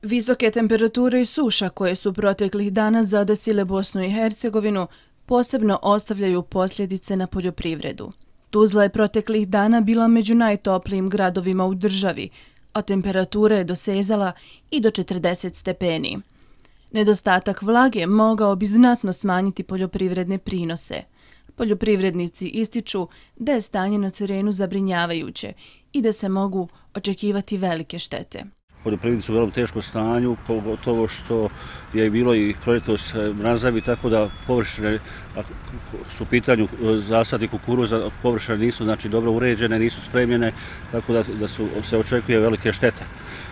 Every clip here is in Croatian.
Visoke temperature i suša koje su proteklih dana zadesile Bosnu i Hercegovinu posebno ostavljaju posljedice na poljoprivredu. Tuzla je proteklih dana bila među najtoplijim gradovima u državi, a temperatura je dosezala i do 40 stepeni. Nedostatak vlage mogao bi znatno smanjiti poljoprivredne prinose. Poljoprivrednici ističu da je stanje na terenu zabrinjavajuće i da se mogu očekivati velike štete. Poljoprivrednici su u veoma teškom stanju, pogotovo što je bilo i proljetos mrazavi, tako da površine, ako su u pitanju zasadi kukuruza, površine nisu dobro uređene, nisu spremljene, tako da se očekuje velike štete.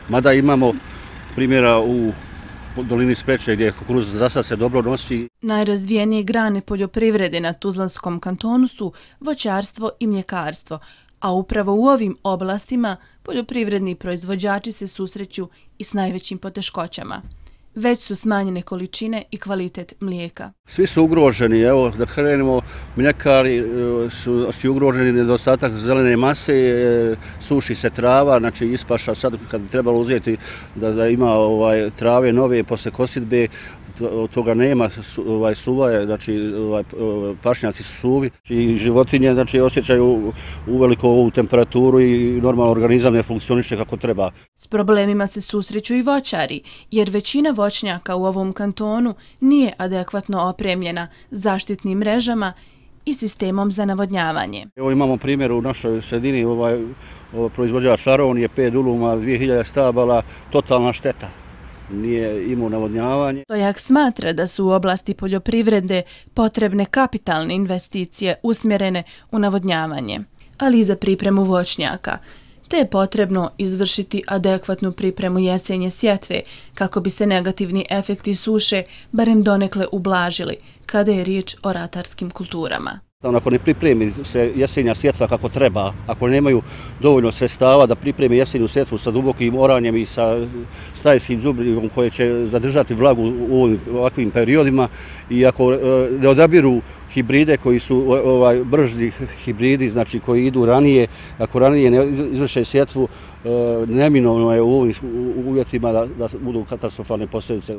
Mada imamo primjera u dolini Spreče gdje kukuruz zasad se dobro nosi. Najrazvijenije grane poljoprivrede na Tuzlanskom kantonu su voćarstvo i mljekarstvo, a upravo u ovim oblastima poljoprivredni proizvođači se susreću i s najvećim poteškoćama. Već su smanjene količine i kvalitet mlijeka. Svi su ugroženi, evo da krenemo, mljekari su ugroženi, nedostatak zelene mase, suši se trava, znači ispaša sad kad bi trebalo uzeti da ima trave nove posle kosidbe, od toga nema, suva je, znači pašnjaci su suvi i životinje osjećaju uveliko ovu temperaturu i normalno organizam ne funkcioniše kako treba. S problemima se susreću i voćari, jer većina voćnjaka u ovom kantonu nije adekvatno opremljena zaštitnim mrežama i sistemom za navodnjavanje. Evo imamo primjer u našoj sredini, proizvođač Aron je 5 duluma, 2000 stabala, totalna šteta. Nije imao navodnjavanje. Stojak smatra da su u oblasti poljoprivrede potrebne kapitalne investicije usmjerene u navodnjavanje, ali i za pripremu voćnjaka, te je potrebno izvršiti adekvatnu pripremu jesenje sjetve kako bi se negativni efekti suše barem donekle ublažili kada je riječ o ratarskim kulturama. Ako ne pripremi se jesenja sjetva kako treba, ako nemaju dovoljno sredstava da pripreme jesenju sjetvu sa dubokim oranjem i sa stajskim đubrivom koje će zadržati vlagu u ovakvim periodima i ako ne odabiru hibride koji su brži hibridi, znači koji idu ranije, ako ranije ne izvrše sjetvu, neminovno je u ovim uvjetima da budu katastrofalne posljedice.